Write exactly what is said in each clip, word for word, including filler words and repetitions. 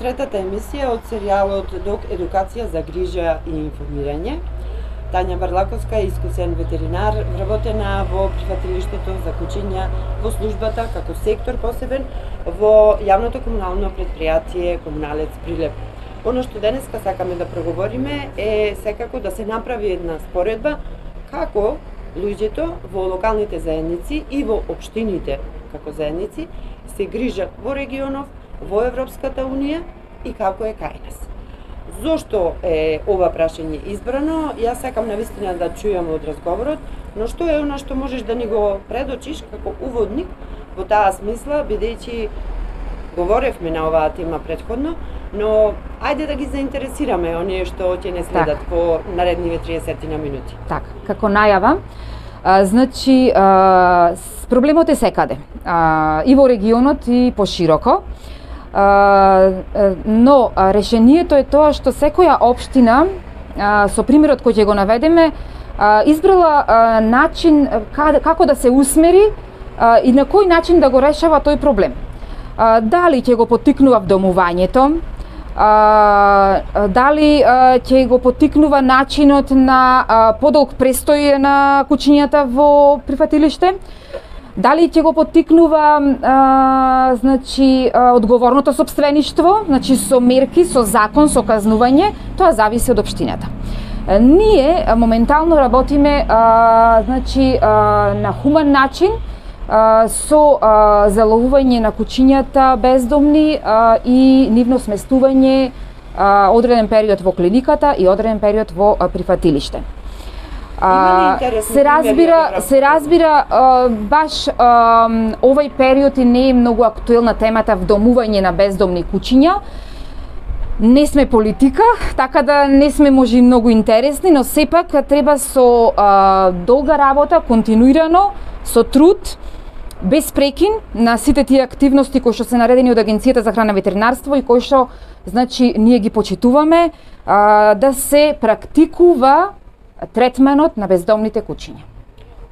третата емисија од серијалот Док едукација за грижа и информирање. Тања Барлаковска е искусен ветеринар, вработена во прифатилиштето за кучиња во службата како сектор посебен во јавното комунално предпријатие Комуналец Прилеп. Оно што денеска сакаме да проговориме е секако да се направи една споредба како луѓето во локалните заедници и во општините како заедници се грижат во регионов, во Европската унија и како е кај нас. Зошто е ова прашање избрано? Јас сакам навистина да чујам од разговорот, но што е она што можеш да ни го предочиш како уводник во таа смисла, бидејќи говоревме на оваа тема претходно, но ајде да ги заинтересираме оние што ќе не следат так по наредниве триесет на минути. Така, како најава, а, значи а, проблемот е секаде, а, и во регионот и пошироко. Uh, но uh, решението е тоа што секоја општина, uh, со примерот кој ќе го наведеме, uh, избрала uh, начин каде, како да се усмери uh, и на кој начин да го решава тој проблем. Uh, дали ќе го поттикнува вдомувањето, uh, дали uh, ќе го поттикнува начинот на uh, подолг престој на кучињата во прифатилиште, дали ќе го поттикнува а, значи а, одговорното сопствеништво, значи со мерки, со закон, со казнување, тоа зависи од општината. А, ние а, моментално работиме а, значи а, на хуман начин а, со а, заловување на кучињата бездомни а, и нивно сместување а, одреден период во клиниката и одреден период во а, прифатилиште. А, се разбира, се разбира а, баш а, овој период и не е многу актуелна темата вдомување на бездомни кучиња. Не сме политика, така да не сме може многу интересни, но сепак треба со а, долга работа, континуирано, со труд, без прекин на сите тие активности кои што се наредени од Агенцијата за храна и ветеринарство и кои што значи ние ги почитуваме, а, да се практикува третманот на бездомните кучиња.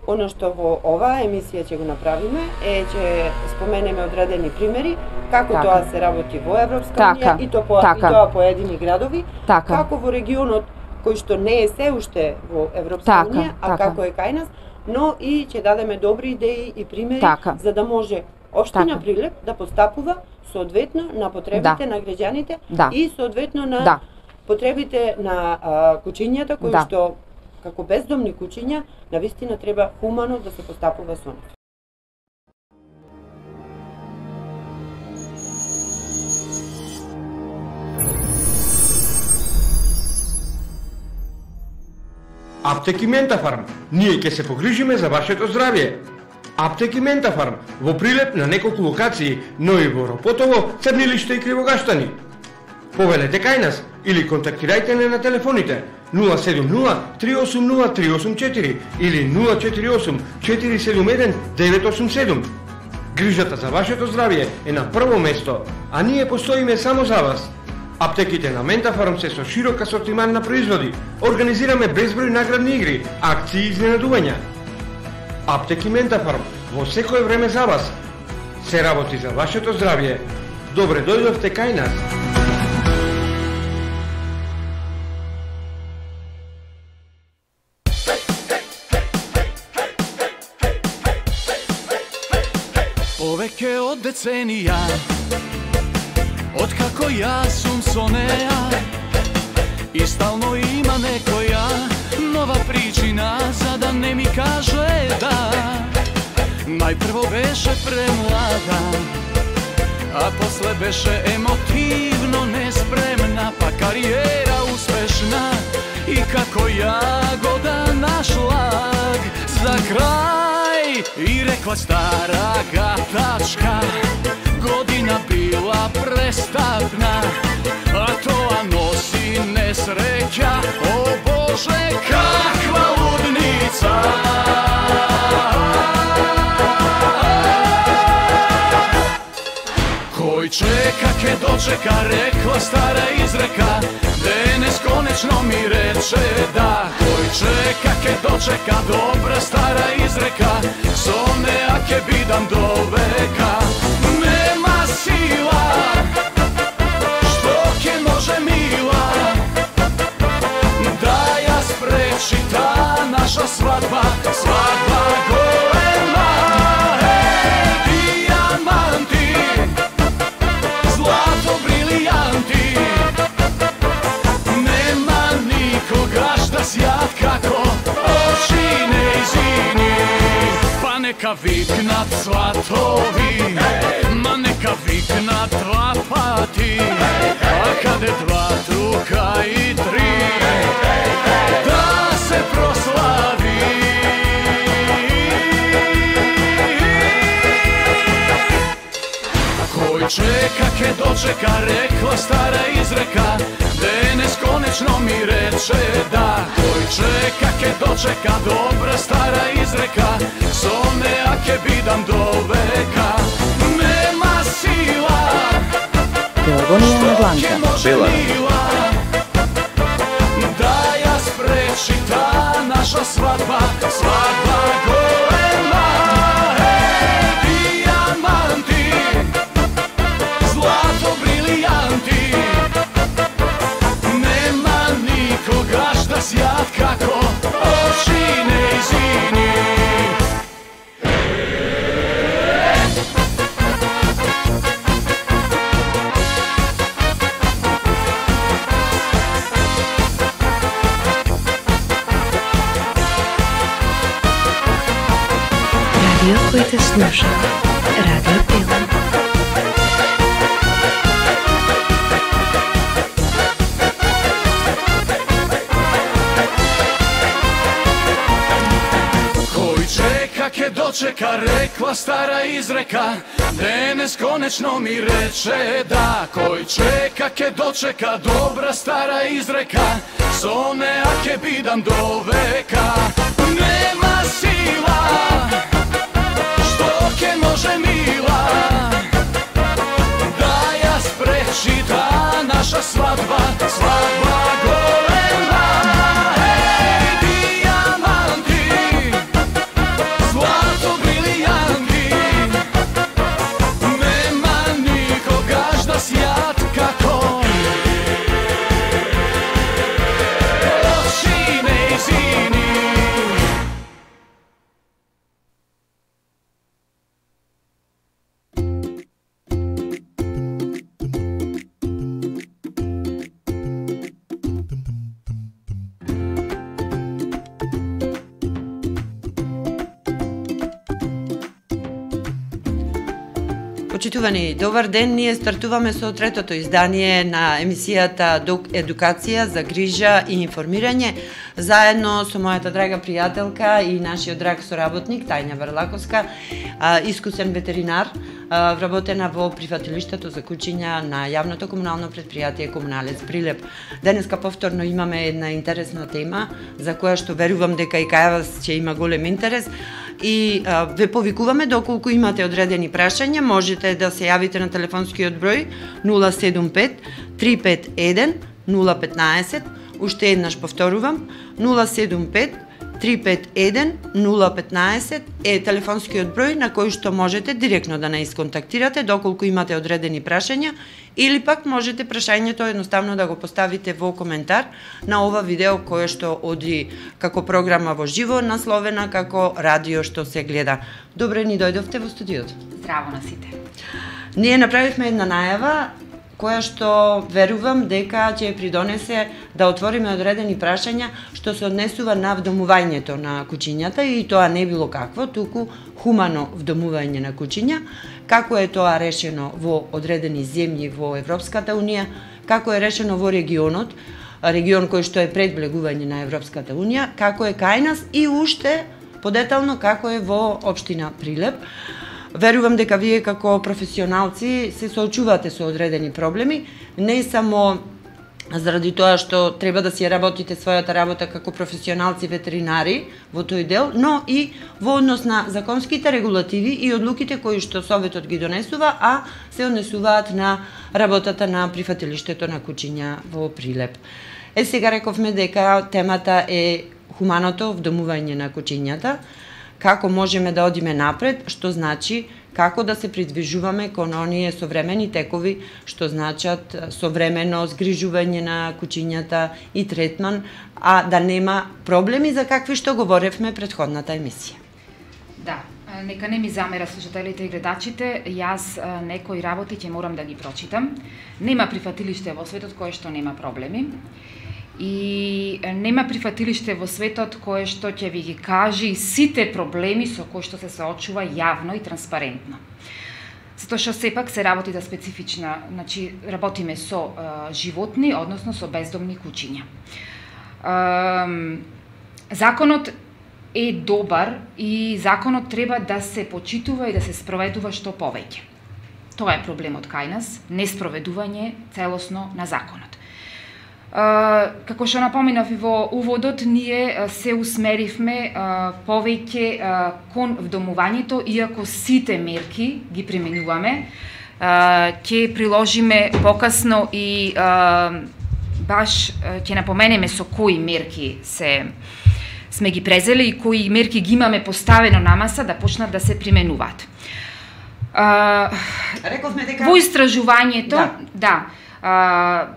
Оно што во оваа емисија ќе го направиме е ќе споменеме одредени примери како така тоа се работи во Европска така, унија и, то по, така. и тоа поедини градови, така. како во регионот кој што не е се уште во Европска така, унија, а така. како е кај нас, но и ќе дадеме добри идеи и примери така. за да може општина така. Прилеп да постапува соодветно на потребите да. на граѓаните да. и соодветно на да. потребите на а, кучињата кои да. што како бездомни кучиња, навистина треба хумано да се постапува со нив. Аптеки Ментафарм, ние ќе се погрижиме за вашето здравје. Аптеки Ментафарм во Прилеп на неколку локации, но и во Ропотово, Црнилиште и Кривогаштани. Повелете кај нас или контактирајте не на телефоните нула седум нула три осум нула три осум четири или нула четири осум четири седум еден девет осум седум. Грижата за вашето здравје е на прво место, а ние постоиме само за вас. Аптеките на Ментафарм се со широк асортиман на производи. Организираме безброј наградни игри, акции и изненадувања. Аптеки Ментафарм во секое време за вас. Се работи за вашето здравје. Добре дојдовте кај нас. Повеќе од деценија, откако јас сум со неа, и стално има некоја нова причина за да не ми каже да. Најпрво беше премлада, а после беше емотивно неспремна, па кариера успешна и како јагода на шлаг. За крај и рекла стара гатачка, година била престапна, а тоа носи несреќа. О Боже, каква лудница! Кој чека ке дочека, рекла стара изрека, денес конечно ми рече да. Кој чека ке дочека, добра стара изрека, со неа ке бидам до века. Нема сила што наша свадба, свадба голема. Ей, дијаманти, злато, брилијанти, нема никогаш да сјат како очи нејзини. Па нека викнат сватови, ма нека викнат два пати, а каде два, трука и три, да се прослави. Кој чека ке дочека, рекла стара изрека, денес конечно ми рече да. Кој чека ке дочека, добра стара изрека, со неа ке бидам до века. Нема сила, Пелагонија на Бланка. Бела, да ја спречи та наша свадба, свадба голема. Ей, дијаманти, злато, брилијанти, нема никогаш да сјат како очи нејзини. Радио кој те слуша. Радио Пела. Кој чека ке дочека, рекла стара изрека, денес конечно ми рече да. Кој чека ке дочека, добра стара изрека, со неа ке бидам до века. Нема сила, што ке може мила, да ја спречи та наша свадба, свадба голема. Ей, дијаманти, злато, брилијанти, нема никогаш да сјат како очи нејзини. Почитувани, добар ден, ние стартуваме со третото издание на емисијата Едукација за грижа и информирање, заедно со мојата драга пријателка и нашиот драг соработник Тања Варлаковска, искусен ветеринар, вработена во прифатилиштето за кучиња на јавното комунално предпријатие Комуналец Прилеп. Денеска повторно имаме една интересна тема за која што верувам дека и кај вас ќе има голем интерес. И а, ве повикуваме доколку имате одредени прашања, можете да се јавите на телефонскиот број нула седум пет три пет еден нула петнаесет, уште еднаш повторувам, нула седум пет три пет еден нула петнаесет е телефонскиот број на кој што можете директно да не исконтактирате доколку имате одредени прашања, или пак можете прашањето едноставно да го поставите во коментар на ова видео кое што оди како програма во живо, насловена како радио што се гледа. Добре ни дојдовте во студиото. Здраво на сите. Ние направивме една најава која што верувам дека ќе придонесе да отвориме одредени прашања што се однесува на вдомувањето на кучињата, и тоа не било какво, туку хумано вдомување на кучиња, како е тоа решено во одредени земји во Европската Унија, како е решено во регионот, регион кој што е пред влегување на Европската Унија, како е кај нас и уште подетално како е во општина Прилеп. Верувам дека вие како професионалци се соочувате со одредени проблеми, не само заради тоа што треба да си работите својата работа како професионалци ветеринари во тој дел, но и во однос на законските регулативи и одлуките кои што Советот ги донесува, а се однесуваат на работата на прифатилиштето на кучиња во Прилеп. Е, сега рековме дека темата е хуманото вдомување на кучињата, како можеме да одиме напред, што значи како да се придвижуваме кон оние современи текови, што значат современо згрижување на куќињата и третман, а да нема проблеми за какви што говоревме предходната емисија. Да, нека не ми замера слушателите и гледачите, јас некои работи ќе морам да ги прочитам. Нема прифатилиште во светот кое што нема проблеми. И нема прифатилиште во светот кое што ќе ви ги кажи сите проблеми со кои што се соочува јавно и транспарентно. Затоа што сепак се работи за специфична, значи работиме со е, животни, односно со бездомни куќиња. Е, законот е добар и законот треба да се почитува и да се спроведува што повеќе. Тоа е проблемот кај нас, неспроведување целосно на законот. Uh, како што напоминав и во уводот, ние uh, се усмеривме uh, повеќе uh, кон вдомувањето, иако сите мерки ги применуваме. Uh, ќе приложиме покасно и uh, баш uh, ќе напоменеме со кои мерки се сме ги презели и кои мерки ги имаме поставено на маса да почнат да се применуваат. Uh, Рековме дека во истражувањето, да, да uh,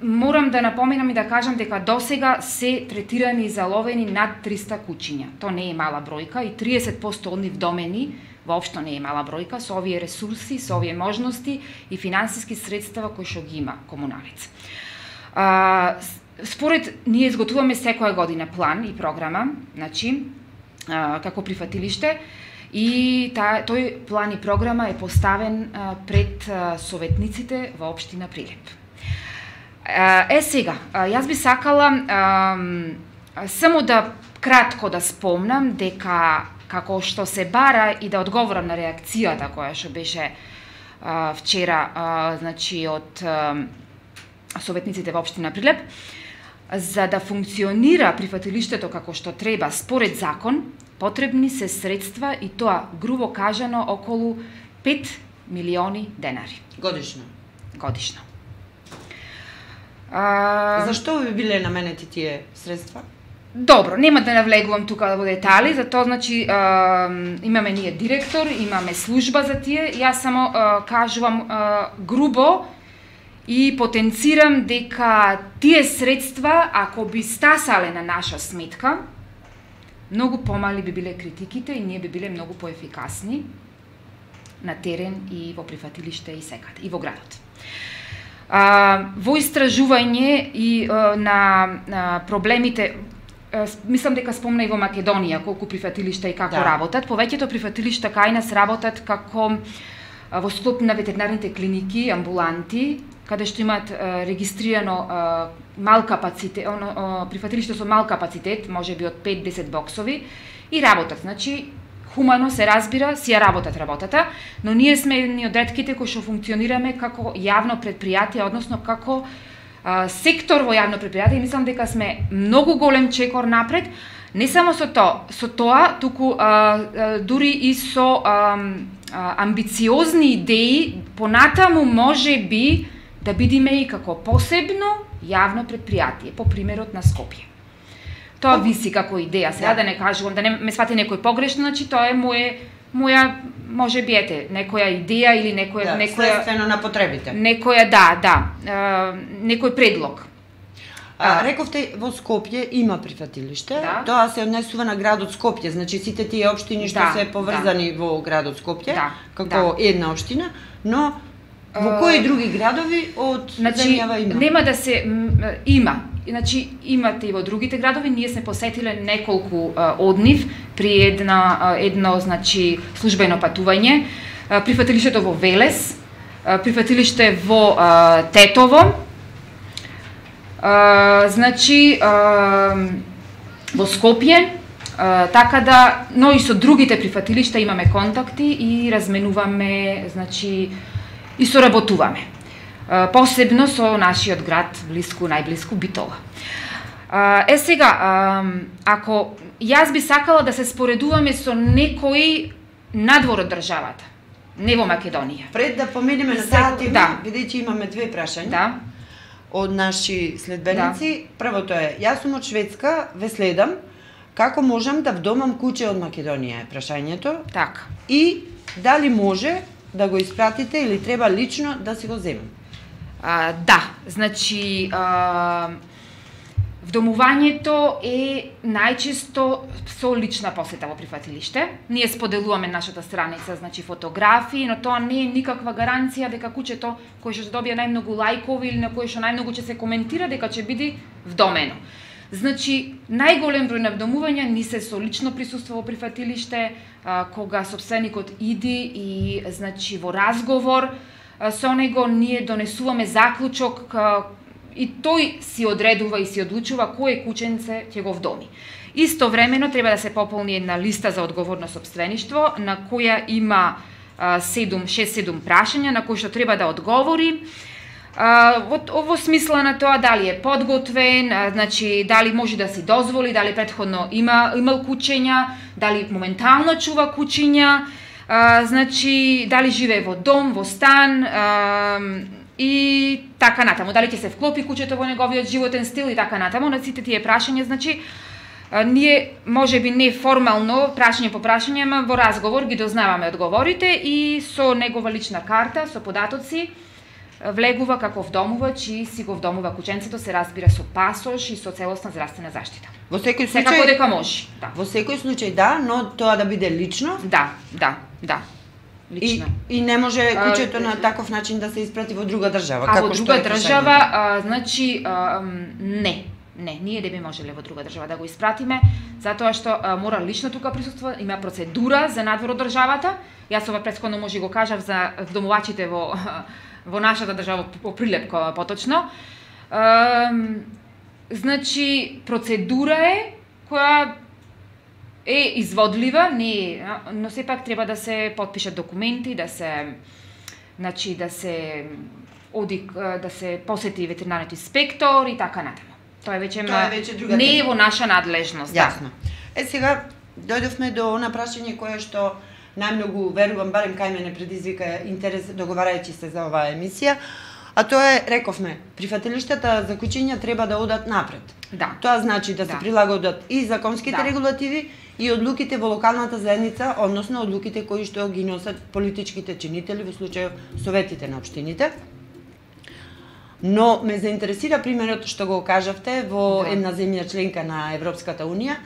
морам да напоменам и да кажам дека досега се третирани и заловени над триста куќиња. Тоа не е мала бројка и триесет проценти од нив домени, воопшто не е мала бројка, со овие ресурси, со овие можности и финансиски средства кои што ги има комуналец. А, според ние изготвуваме секоја година план и програма, значи а, како прифатилиште, и та, тој план и програма е поставен а, пред а, советниците во општина Прилеп. Е, сега, јас би сакала е, само да кратко да спомнам дека како што се бара и да одговорам на реакцијата која што беше е, вчера е, значи од е, советниците во општина Прилеп, за да функционира прифатилиштето како што треба според закон, потребни се средства и тоа грубо кажано околу пет милиони денари годишно. Годишно. А... Зашто би биле наменети тие средства? Добро, нема да навлегувам тука во детали, затоа значи е, имаме ние директор, имаме служба за тие, јас само е, кажувам е, грубо и потенцирам дека тие средства, ако би стасале на наша сметка, многу помали би биле критиките и ние би биле многу поефикасни на терен и во прифатилиште и секаде, и во градот. А, во истражување и а, на, на проблемите, а, мислам дека спомна и во Македонија колку прифатилишта и како да. работат. Повеќето прифатилишта кај нас работат како а, во склоп на ветеринарните клиники, амбуланти, каде што имаат а, регистрирано а, мал капацитет, оно, а, прифатилиште со мал капацитет, можеби од пет до десет боксови, и работат. Значи, хумано се разбира, си ја работат работата, но ние сме едни од ретките кои што функционираме како јавно предпријатие, односно како а, сектор во јавно предпријатие, и мислам дека сме многу голем чекор напред, не само со тоа, со тоа, туку а, а, дури и со а, а, амбициозни идеи, понатаму може би да бидиме и како посебно јавно предпријатие, по примерот на Скопје. Тоа виси како идеја, сега да, да не кажувам, да не ме свати некој погрешно, значи тоа е моја, моја може би ете, некоја идеја или некоја... Да, некоја, следствено на потребите. Некоја, да, да, е, некој предлог. А, рековте, во Скопје има прифатилиште, да. Тоа се однесува на градот Скопје, значи сите тие општини што да, се поврзани да. во градот Скопје, да, како да. една општина, но во кои други градови од значи, земјава има? Нема да се... има. Значи, имате и во другите градови, ние сме посетиле неколку а, од нив при една, а, едно значи, службено патување. А, прифатилиштето во Велес, а, прифатилиште во а, Тетово, а, значи, а, во Скопје, а, така да, но и со другите прифатилишта имаме контакти и разменуваме, значи, и соработуваме. Посебно со нашиот град, блиску, најблиску, Битола. Е сега, ако јас би сакала да се споредуваме со некои надвор од државата, не во Македонија. Пред да поминеме на таа тема, да. бидејќи имаме две прашања да. од наши следбеници. Да. Првото е, јас сум од Шведска, ве следам, како можам да вдомам куќе од Македонија е прашањето. Така. И дали може да го испратите или треба лично да си го земете? А, да, значи а, вдомувањето е најчесто со лична посета во прифатилиште. Ние споделуваме нашата страница, значи фотографии, но тоа не е никаква гаранција дека куќето кој што добие најмногу лајкови или на кој што најмногу ќе се коментира дека ќе биде вдомено. Значи, најголем број на вдомувања ни се со лично присуство во прифатилиште, а, кога собственикот иди и значи во разговор а, со него ние донесуваме заклучок а, и тој си одредува и си одлучува кој кученце ќе го вдоми. Истовремено треба да се пополни една листа за одговорно сопствеништво на која има шест-седум прашања на кои што треба да одговори. А, во, во смисла на тоа дали е подготвен, а, значи дали може да си дозволи, дали претходно има имал кучења, дали моментално чува кучиња, а, значи дали живее во дом, во стан, а, и така натаму, дали ќе се вклопи куќето во неговиот животен стил и така натаму. На сите тие прашања, значи а, ние можеби не формално прашање по прашање, ама во разговор ги дознаваме одговорите и со негова лична карта, со податоци влегува како вдомувач и си го вдомува кученцето, се разбира со пасош и со целосна здравствена заштита. Во секој случај секако дека може. Да. Во секој случај да, но тоа да биде лично. Да, да, да. Лично. И, и не може куќето на таков начин да се испрати во друга држава. А како во што друга е држава, а, значи, а, не. Не, ние не би можеле во друга држава да го испратиме, затоа што а, мора лично тука присуства, има процедура за надвор од државата. Јас ова претходно може го кажав за вдомувачите во во нашата држава по Прилеп поточно. А, значи, процедура е која е изводлива, не е, но сепак треба да се потпишат документи, да се значи да се оди да се посети ветеринарниот инспектор и така натаму. Тоа е веќе, Тоа е веќе друга не е тема. во наша надлежност. Јасно. Е сега дојдовме до она прашање кое што најмногу верувам, барем кај мене предизвика интерес договарајќи се за оваа емисија, а тоа е, рековме, прифатилиштата за кучиња треба да одат напред. Да. Тоа значи да, да. се прилагодат и законските Да. регулативи и одлуките во локалната заедница, односно одлуките кои што ги носат политичките чинители, во случајов советите на општините. Но ме заинтересира примерот што го кажавте во Да. една земја членка на Европската унија,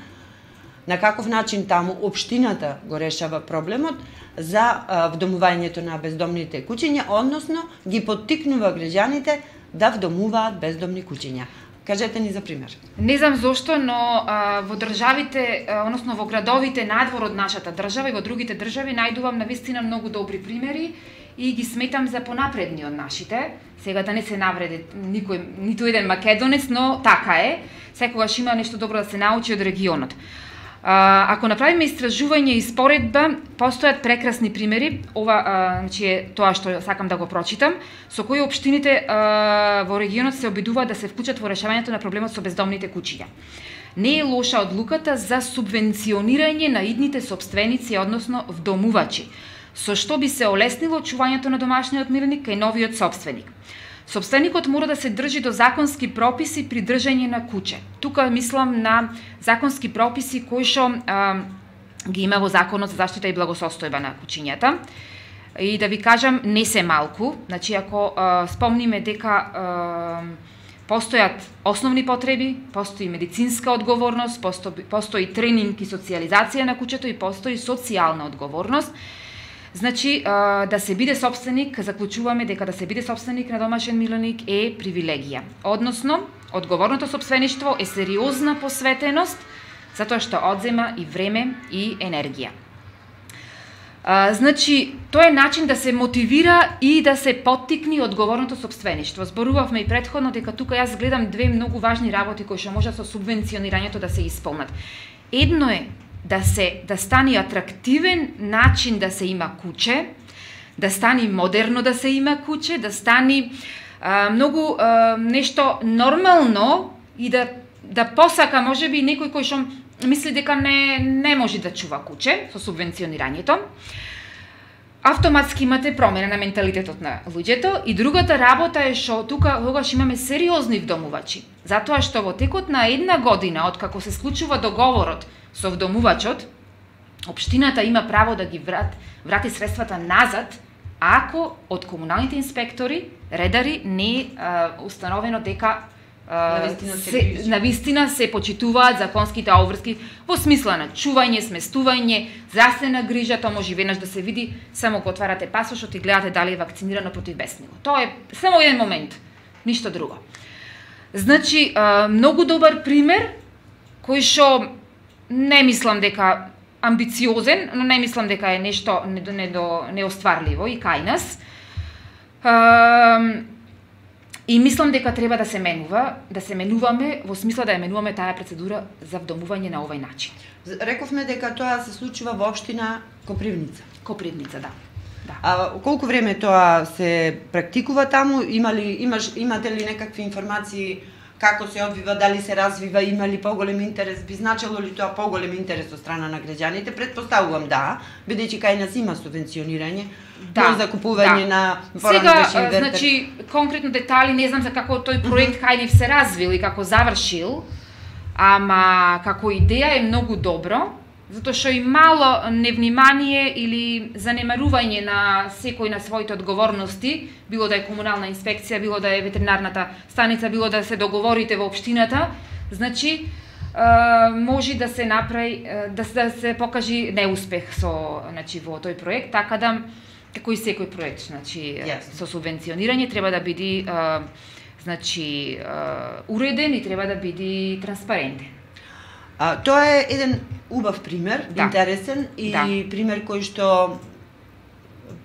на каков начин таму општината го решава проблемот за а, вдомувањето на бездомните кучиња, односно ги поттикнува граѓаните да вдомуваат бездомни кучиња. Кажете ни за пример. Не знам зошто, но а, во државите, а, односно во градовите надвор од нашата држава и во другите држави најдувам навистина многу добри примери и ги сметам за понапредни од нашите. Сега да не се навреди никој, ниту еден македонец, но така е. Секогаш има нешто добро да се научи од регионот. А, ако направиме истражување и споредба, постојат прекрасни примери. Ова а, значи е тоа што сакам да го прочитам, со кои општините а, во регионот се обидуваат да се вклучат во решавањето на проблемот со бездомните кучиња. Не е лоша одлуката за субвенционирање на идните сопственици, односно вдомувачи, со што би се олеснило чувањето на домашниот миреник кај новиот сопственик. Сопственикот мора да се држи до законски прописи при држање на куче. Тука мислам на законски прописи кои што а, ги има во Законот за заштита и благосостојба на кучињата. И да ви кажам, не се малку. Значи, ако а, спомниме дека а, постојат основни потреби, постои медицинска одговорност, постои, постои тренинг и социјализација на кучето и постои социјална одговорност. Значи, да се биде сопственик, заклучуваме дека да се биде сопственик на домашен миленик е привилегија. Односно, одговорното сопствеништво е сериозна посветеност, затоа што одзема и време и енергија. А, значи, тоа е начин да се мотивира и да се поттикни одговорното сопствеништво. Зборувавме и претходно дека тука јас гледам две многу важни работи кои што може со субвенционирањето да се исполнат. Едно е да се да стане атрактивен начин да се има куче, да стане модерно да се има куче, да стане а, многу а, нешто нормално и да да посака можеби некој кој што мисли дека не не може да чува куче со субвенционирањето. Автоматски имате промена на менталитетот на луѓето и другата работа е што тука тогаш имаме сериозни вдомувачи, затоа што во текот на една година од како се случува договорот со вдомувачот, општината има право да ги врат, врати средствата назад ако од комуналните инспектори, редари не е установено дека Навистина се, се, навистина се почитуваат законските обврски во смисла на чување, сместување, здравствена грижа, тоа може веднаш да се види, само го отварате пасошот и гледате дали е вакцинирано против бесниго. Тоа е само еден момент, ништо друго. Значи, многу добар пример, кој што не мислам дека амбициозен, но не мислам дека е нешто неостварливо и кај нас. И мислам дека треба да се менува, да се менуваме во смисла да ја менуваме таа процедура за вдомување на овој начин. Рековме дека тоа се случува во општина Копривница. Копривница, да. Да. А колку време тоа се практикува таму? Има ли, имаш, имате ли некакви информации како се одвива, дали се развива, има ли поголем интерес, би значило ли тоа поголем интерес од страна на граѓаните? Предпоставувам да, бидејќи кај нас има субвенционирање, да, за закупување да. на Сега, значи, конкретно детали не знам за како тој проект mm -hmm. кај нив се развил и како завршил, ама како идеја е многу добро, затоа што и мало невнимание или занемарување на секој на своите одговорности, било да е комунална инспекција, било да е ветеринарната станица, било да се договорите во општината, значи може да се направи, да се, да се покажи неуспех со, значи, во тој проект, така да како и секој проект, значи yes. со субвенционирање треба да биде значи уреден и треба да биде транспарентен. А, тоа е еден убав пример, да. Интересен и да. Пример кој што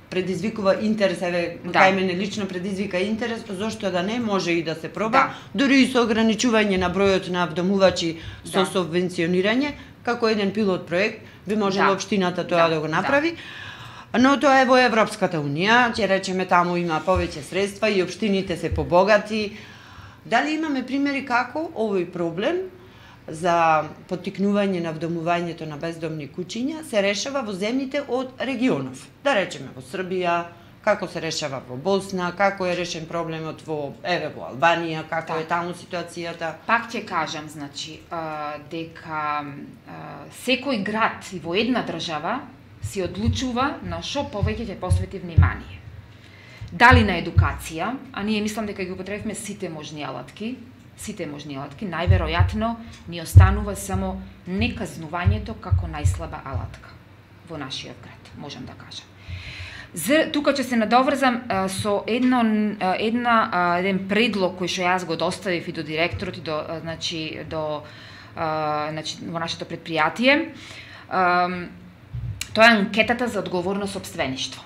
предизвикува интерес, еве, да. Кај мене лично предизвика интерес, зошто да не, може и да се проба, да. Дури и со ограничување на бројот на вдомувачи со да. Субвенционирање, како еден пилот проект, би можела да. Општината тоа да, да го направи. Да. Но тоа е во Европската унија, ќе речеме таму има повеќе средства и општините се побогати. Дали имаме примери како овој проблем за поттикнување на вдомувањето на бездомни куќиња се решава во земјите од регионов. Да речеме во Србија, како се решава во Босна, како е решен проблемот во еве во Албанија, како да. Е таму ситуацијата. Пак ќе кажам, значи, дека секој град и во една држава си одлучува на што повеќе ќе посвети внимание. Дали на едукација, а ние мислам дека ги употребивме сите можни алатки, сите можни алатки, најверојатно ни останува само неказнувањето како најслаба алатка во нашиот град, можам да кажам. За, тука ќе се надоврзам а, со едно, а, една, а, еден предлог кој што јас го доставив и до директорот и до, а, значи, до а, значи, во нашето предпријатие. А, тоа е анкетата за одговорно сопствеништво.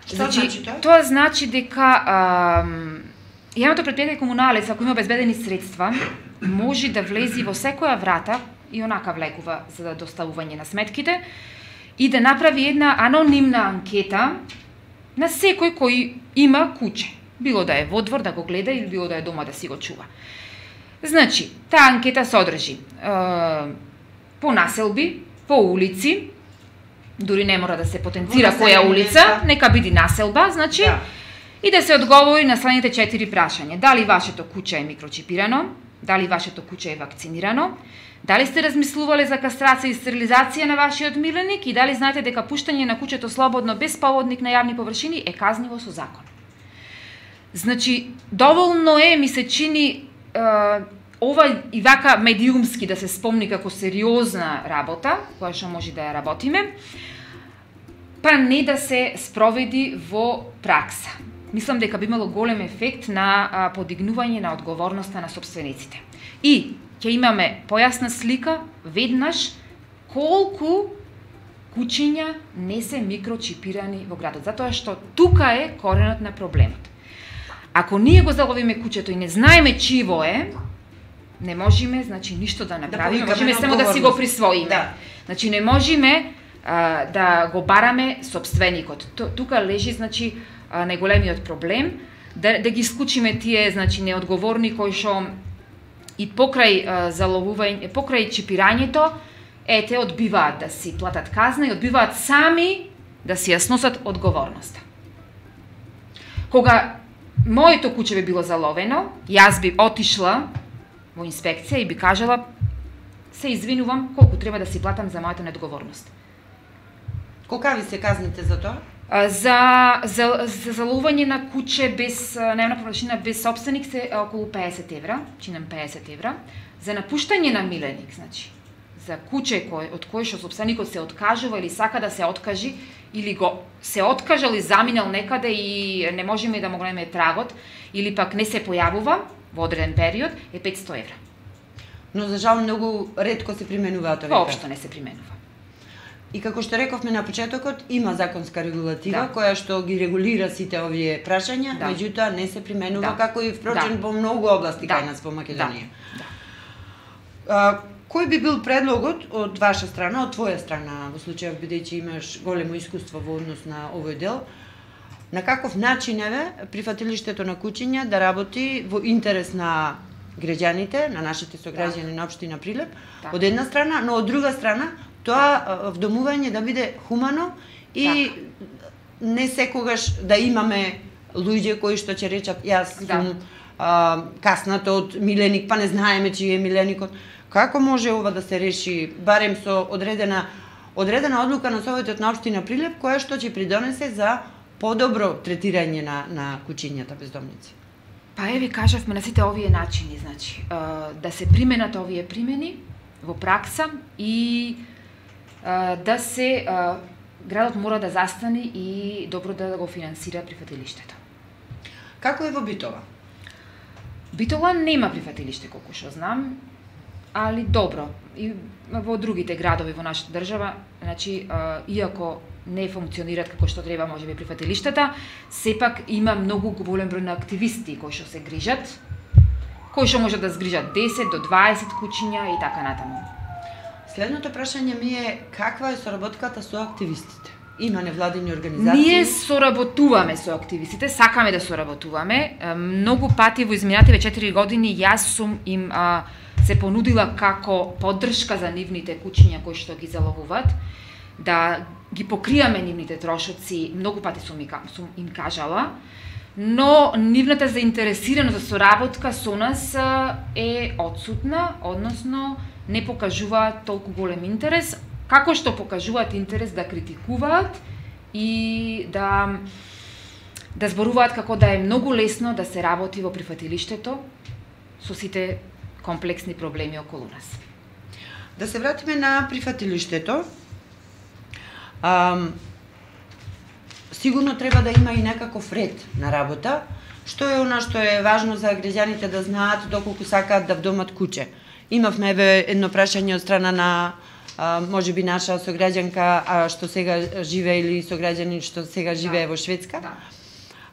Што значи, значи тоа? Тоа значи дека а, Јавното предпријатие Комуналец, ако има обезбедени средства, може да влези во секоја врата и онака влекува за доставување на сметките и да направи една анонимна анкета на секој кој има куќе. Било да е во двор да го гледа или било да е дома да си го чува. Значи, таа анкета содржи е, по населби, по улици, дури не мора да се потенцира која улица, нека биде населба, значи, да. И да се одговори на следните четири прашања. Дали вашето куќе е микрочипирано? Дали вашето куќе е вакцинирано? Дали сте размислувале за кастрација и стерилизација на вашиот миленик? И дали знаете дека пуштање на куќето слободно без поводник на јавни површини е казниво со закон? Значи, доволно е, ми се чини, е, ова и вака медиумски да се спомни како сериозна работа, која што може да ја работиме, па не да се спроведи во пракса. Мислам дека би имало голем ефект на а, подигнување на одговорноста на сопствениците. И ќе имаме појасна слика веднаш колку куќиња не се микрочипирани во градот, затоа што тука е коренот на проблемот. Ако ние го заловиме куќето и не знаеме чиво е, не можеме, значи, ништо да направиме, да можеме само да си го присвоиме. Да. Значи, не можеме а, да го бараме собственикот. Тука лежи, значи, најголемиот проблем, да, да ги исклучиме тие, значи, неодговорни кои што и покрај а, заловување, покрај чипирањето, ете, одбиваат да си платат казна и одбиваат сами да си ја сносат одговорноста. Кога моето куќе би било заловено, јас би отишла во инспекција и би кажала: се извинувам, колку треба да си платам за мојата неодговорност. Колкави се казните за тоа? За, за, за заловување на куќе без најмна површина без собственик се околу педесет евра, чинам педесет евра. За напуштање на миленик, значи, за куќе кој, од кое што собственикот се откажува или сака да се откажи, или го се откажал и заминал некаде и не можеме да му го најме трагот, или пак не се појавува во одреден период, е петсто евра. Но за жал многу ретко се применуваат овие. Воопшто не се применува. И како што рековме на почетокот, има законска регулатива Да. која што ги регулира сите овие прашања, Да. меѓутоа не се применува Да. како и впрочем Да. во многу области Да. кај нас во Македонија. Да. А, кој би бил предлогот од ваша страна, од твоја страна, во случајов бидејќи имаш големо искуство во однос на овој дел, на каков начин еве прифатилиштето на куќиња да работи во интерес на граѓаните, на нашите сограѓани на општина Прилеп, Така. од една страна, но од друга страна тоа а, вдомување да биде хумано и не секогаш да имаме луѓе кои што ќе речат јас Да. сум а, касната од миленик, па не знаеме чиј е миленикот. Како може ова да се реши барем со одредена одредена одлука на Советот на општина Прилеп која што ќе придонесе за подобро третирање на на куќињата бездомници? Па еве кажавме на сите овие начини, значи, а, да се применат овие примени во пракса и а, да се а, градот мора да застане и добро да го финансира прифатилиштето. Како е во Битола? Битола нема прифатилиште колку што знам, али добро. И во другите градови во нашата држава, значи, а, иако не функционираат како што треба можеби прифатилиштата, сепак има многу голем број на активисти кои што се грижат, кои што можат да згрижат десет до дваесет куќиња и така натаму. Следното прашање ми е каква е соработката со активистите? Има невладини организации? Ние соработуваме со активистите, сакаме да соработуваме. Е, Многу пати во изминативе четири години јас сум им а, се понудила како поддршка за нивните куќиња кои што ги заловуваат, да ги покријаме нивните трошоци, многу пати сум, ми, сум им кажала, но нивната заинтересираност за соработка со нас а, е одсутна, односно не покажуваат толку голем интерес, како што покажуваат интерес да критикуваат и да да зборуваат како да е многу лесно да се работи во прифатилиштето со сите комплексни проблеми околу нас. Да се вратиме на прифатилиштето. Ам, сигурно треба да има и некаков ред на работа. Што е она што е важно за граѓаните да знаат доколку сакаат да вдомат куќе? Имавме еве едно прашање од страна на а, можеби наша сограѓанка а, што сега живее или сограѓанин што сега живее во Шведска. Да.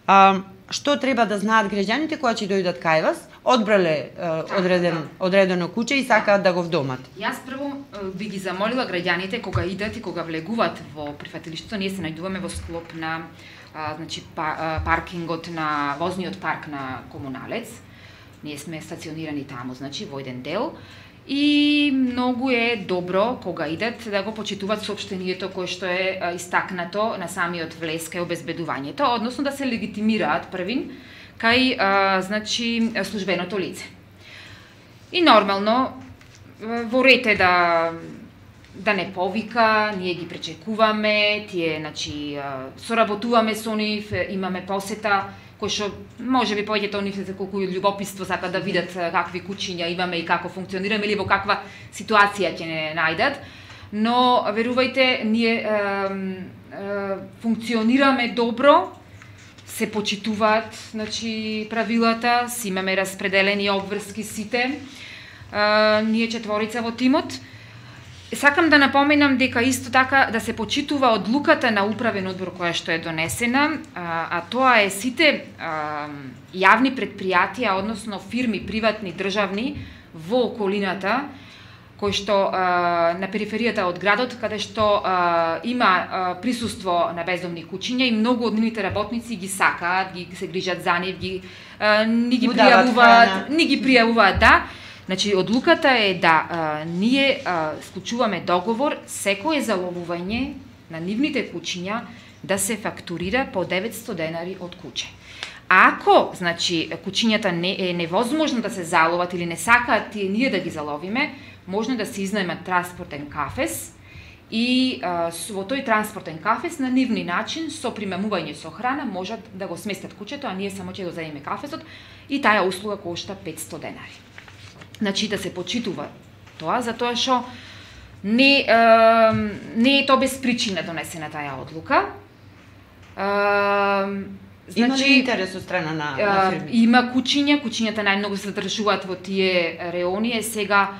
А, што треба да знаат граѓаните кога ќе дојдат кај вас? Одбрале а, одреден, одредено куќе и сакаат да го вдомат. Јас прво е, би ги замолила граѓаните кога идат и кога влегуваат во прифатилиштето, ние се најдуваме во склоп на а, значи па, а, паркингот на возниот парк на Комуналец. Ние сме стационирани таму, значи во еден дел. И многу е добро кога идат да го почитуваат соопштението кое што е а, истакнато на самиот влез кај обезбедувањето, односно да се легитимираат првин кај а, значи службеното лице. И нормално во ред е да да не повика, ние ги пречекуваме, тие значи а, соработуваме со нив, имаме посета кој што можеби повеќето нив се колку љубопитство сакаат да видат какви куќиња имаме и како функционираме или во каква ситуација ќе не најдат. Но верувајте, ние е, е, функционираме добро, се почитуваат значи правилата, си имаме распределени обврски сите. Е, ние четворица во тимот. Сакам да напоменам дека исто така да се почитува одлуката на управен одбор која што е донесена, а, а тоа е сите а, јавни предпријатија, односно фирми, приватни, државни, во околината, кои што а, на периферијата од градот, каде што а, има а, присуство на бездомни куќиња и многу од нивните работници ги сакаат, ги се грижат за нив, ги, а, ни ги пријавуваат, ни ги пријавуваат, да. Значи, одлуката е да а, ние а, склучуваме договор секое заловување на нивните куќиња да се фактурира по деветсто денари од куќе. Ако, значи, куќињата не е невозможно да се заловат или не сакаат тие ние да ги заловиме, можно да се изнаемат транспортен кафес и а, во тој транспортен кафес на нивни начин со примамување со храна можат да го сместат куќето, а ние само ќе го заеме кафесот и таа услуга кошта петсто денари. Значи да се почитува тоа, затоа што не, е, не е тоа без причина донесена таа одлука. Е, значи, има ли интерес од страна на, на фирми? Има куќиња, куќињата најмногу се задржуваат во тие реони, е сега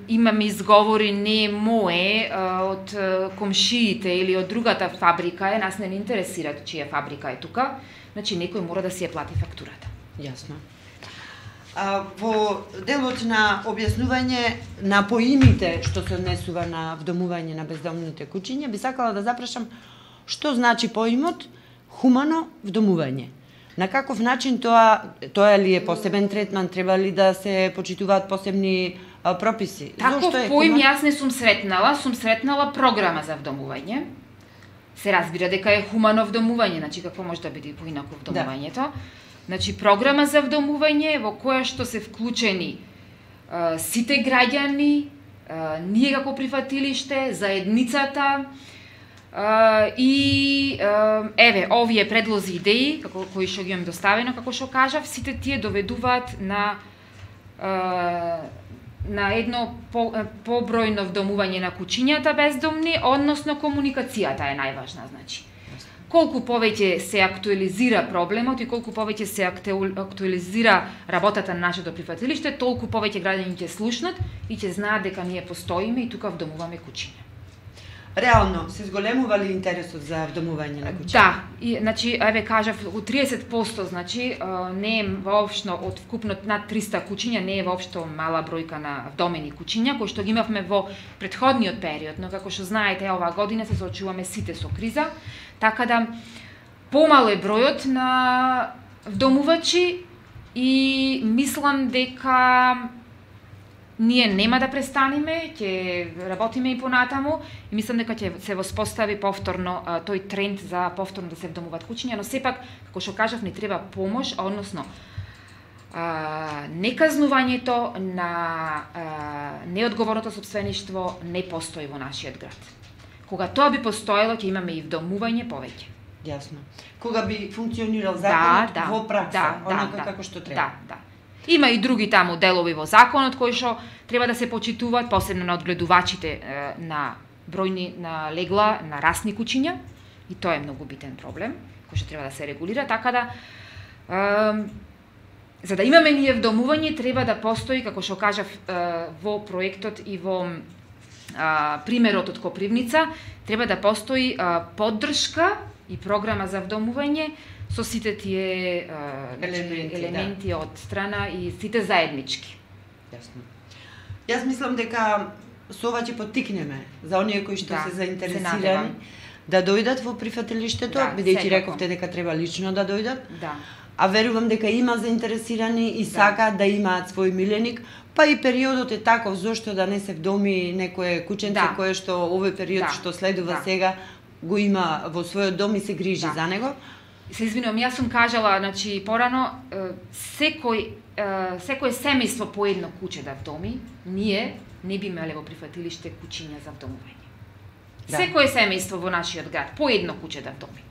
имаме изговори не мое од комшиите или од другата фабрика е, нас не ни интересира чија фабрика е тука, значи некој мора да си ја плати фактурата. Јасно. А, во делот на објаснување на поимите што се однесува на вдомување на бездомните куќиња, би сакала да запрашам што значи поимот хумано вдомување. На каков начин тоа тоа ли е посебен третман, треба ли да се почитуваат посебни а, прописи? Таков поим хуман... јас не сум сретнала, сум сретнала програма за вдомување. Се разбира дека е хумано вдомување, значи какво може да биде поинаку вдомувањето. Да. Значи програма за вдомување во која што се вклучени а, сите граѓани, а, ние како прифатилиште, заедницата, Uh, и uh, еве овие предлози идеи како кои што ги имам доставено, како што кажав, сите тие доведуваат на uh, на едно по, побројно вдомување на куќињата бездомни, односно комуникацијата е најважна, значи. Колку повеќе се актуализира проблемот и колку повеќе се актуализира работата на нашето прифатилиште, толку повеќе граѓани ќе слушнат и ќе знаат дека ние постоиме и тука вдомуваме куќиња. Реално, се зголемува ли интересот за вдомување на куќа? Да, и, значи, еве кажав, у тридесет проценти, значи, не е воопшто од вкупно над триста куќиња, не е воопшто мала бројка на вдомени куќиња, кои што ги имавме во претходниот период, но како што знаете, оваа година се соочуваме сите со криза, така да помало е бројот на вдомувачи и мислам дека ние нема да престанеме, ќе работиме и понатаму и мислам дека ќе се воспостави повторно а, тој тренд за повторно да се вдомуваат куќиња, но сепак, како што кажав, не треба помош, односно а, неказнувањето на а, неодговорното сопствеништво не постои во нашиот град. Кога тоа би постоело, ќе имаме и вдомување повеќе. Јасно. Кога би функционирал законот да, да, во пракса, да, онака да, како што треба. Да, да. Има и други таму делови во законот кои што треба да се почитуваат, посебно на одгледувачите е, на бројни на легла на расни куќиња, и тоа е многу битен проблем кој што треба да се регулира, така да е, за да имаме ние вдомување треба да постои, како што кажав е, во проектот и во е, примерот од Копривница, треба да постои е, поддршка и програма за вдомување со сите тие uh, елементи, елементи да. Од страна и сите заеднички. Јасно. Јас мислам дека со ова ќе поттикнеме за оние кои што да, се заинтересирани да дојдат во прифатилиштето, да, бидејќи рековте дека треба лично да дојдат. Да. А верувам дека има заинтересирани и да. Сакаат да имаат свој миленик, па и периодот е таков, зошто да не се вдоми некое кученце да. Кое што овој период да. Што следува да. Сега го има во својот дом и се грижи да. За него. Се извинувам, јас сум кажала, значи порано, секој секое семејство по едно куќе да вдоми, ние не би имале во прифатилиште куќиња за вдомување. Да. Секое семејство во нашиот град по едно куќе да вдоми.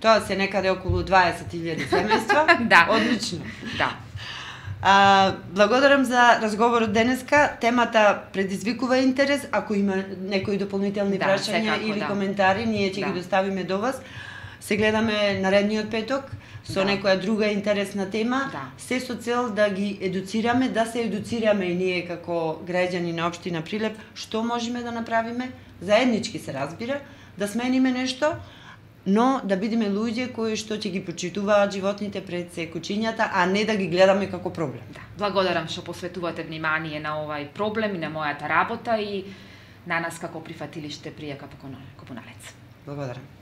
Тоа се некаде околу дваесет илјади семејства. Да. Одлично. Да. А, благодарам за разговорот денеска. Темата предизвикува интерес. Ако има некои дополнителни да, прашања или да. Коментари, ние ќе да. Ги доставиме до вас. Се гледаме наредниот петок со да. Некоја друга интересна тема, да. Се со цел да ги едуцираме, да се едуцираме и ние како граѓани на општина Прилеп, што можеме да направиме, заеднички се разбира, да смениме нешто, но да бидеме луѓе кои што ќе ги почитуваат животните пред се куќињата, а не да ги гледаме како проблем. Да. Благодарам што посветувате внимание на овај проблем и на мојата работа и на нас како прифатилиште Пријака Копуналец. Благодарам.